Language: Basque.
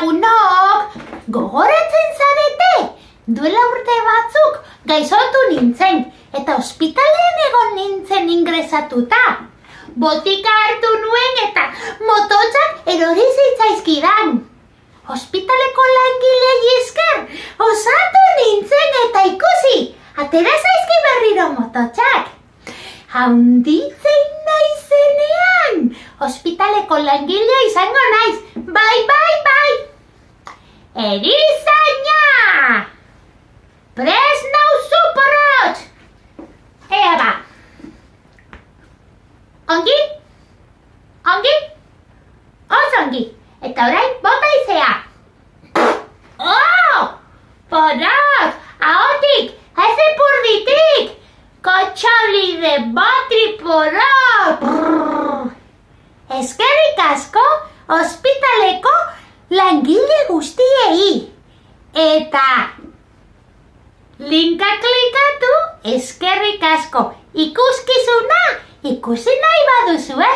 lagunok, gogoratzen zarete? Duela urte batzuk gaixotu nintzen, eta ospitalean egon nintzen ingresatuta. Botika hartu nuen eta mototxak erori zitzaizkidan. Ospitaleko langilei esker osatu nintzen eta ikusi, atera zaizki berriro mototxak. Handitzen naizenean, ospitaleko langilea izango naiz. Bai. Erizaina! Prest nauzu porrotx! Ea ba. Ongi? Oso ongi. Eta orain bota izea. Oh! Porrotx! Ahotik! Ez ipurditik! Kotxolide batri porrotx! Eskerrik asko ospitaleko langile guztiei. Eta linka klikatu, eskerrik asko. Ikuskizuna ikusi nahi baduzue.